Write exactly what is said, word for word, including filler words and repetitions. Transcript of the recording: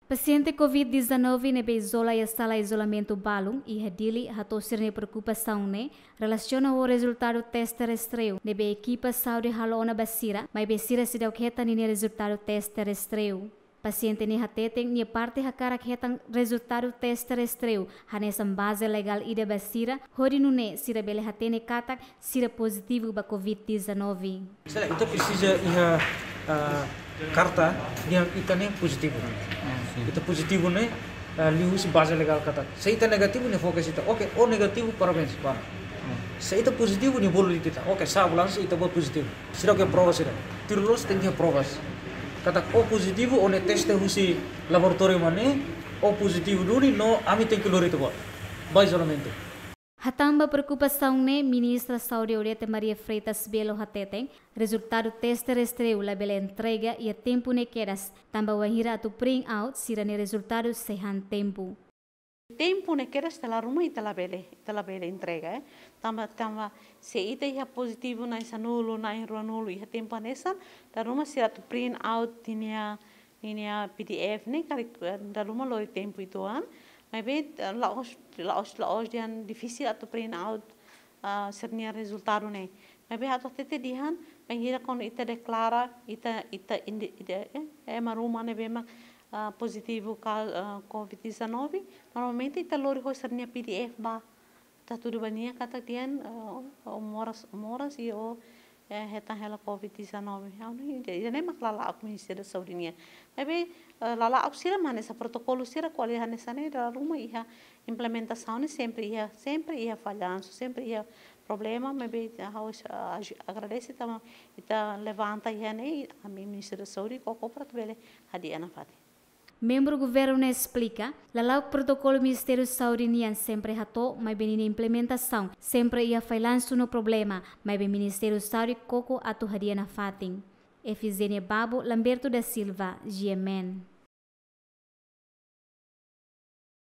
Pasiente Covid dezanove ne'ebé izola iha sala izolamentu balun iha Dili hato'o sira-nia preokupasaun ne'e relasiona ho rezultadu teste rastreiu ne'ebé ekipa saúde halo ona ba sira, maibé sira seidauk hetan ninia rezultadu teste rastreiu. Pasiente ne'e hateten nia parte hakarak hetan rezultadu teste rastreiu hanesan baze legál ida ba sira, hodi nune'e sira bele hatene katak sira pozitivu ba Covid dezanove. Sira, ita presiza iha, ah, karta dehan ita ne'e pozitivu. Ita pozitivu ne'e, ah, liuhusi baze legál katak. Se ita negativu, nia fó kedas ita. Oke, ó negativu, parabéns, bá. Se ita pozitivu, nia bolu de'it ita. Oke, sa'e ambulánsia, ita-boot pozitivu. Seidauk iha prova sira. Tuir loos tenke iha provas. Katak ó pozitivu, ó ne'e teste husi laboratóriu mak ne'e, ó pozitivu duni, no ami tenke lori ita-boot ba izolamentu. Hatán ba preokupasaun ne'e, Ministra Saúde Odete Maria Freitas Belo hateten, rezultadu teste rastreiu labele entrega iha tempu ne'e kedas, tanba wainhira atu print out, sira-nia rezultadu sei han tempu. Tempu ne'e kedas ita la ruma ita labele, ita labele entrega, eh. Tanba, tanba se ita iha pozitivu na'in sanulu, na'in ruanulu iha tempu hanesan, dala ruma sira atu print out ninia, ninia P D F ne'e karik, eh, dala ruma lori tempu uitoan. Maibé, eh, la'ós, la'ós, la'ós dehan difisil atu print out, ah, sira-nia rezultadu ne'e. Maibé ha'u hatete dehan, bainhira kuandu ita deklara, ita, ita indi-, ita, eh, eh, ema ruma ne'ebé mak, ah, pozitivu ka, ah, Covid dezanove, normalmente ita lori ho sira-nia P D F ba. Ita hatudu ba nia katak dehan, ah, ó moras, ó moras i ó, eh, hetan hela Covid dezanove. Ha'u hanoin, ida-ne'e mak lala'ok Ministériu Saúde nian. Maibé, eh, lala'ok sira mak hanesan protokolu sira ko'alia hanesan ne'e dala ruma iha implementasaun ne'e sempre iha, sempre iha fallansu, sempre iha problema, maibé ha'u, ah, aju-, agradese tanba ita levanta iha ne'e, ami Ministériu Saúde koko para atu bele hadi'a nafatin. Membru governu ne'e esplika, lala'ok protokolu Ministériu Saúde nian sempre hato'o, maibé ninia implementasaun sempre iha fallansu no problema, maibé Ministériu Saúde koko atu hadi'a nafatin. Efizénia Babo, Lamberto da Silva, G M N.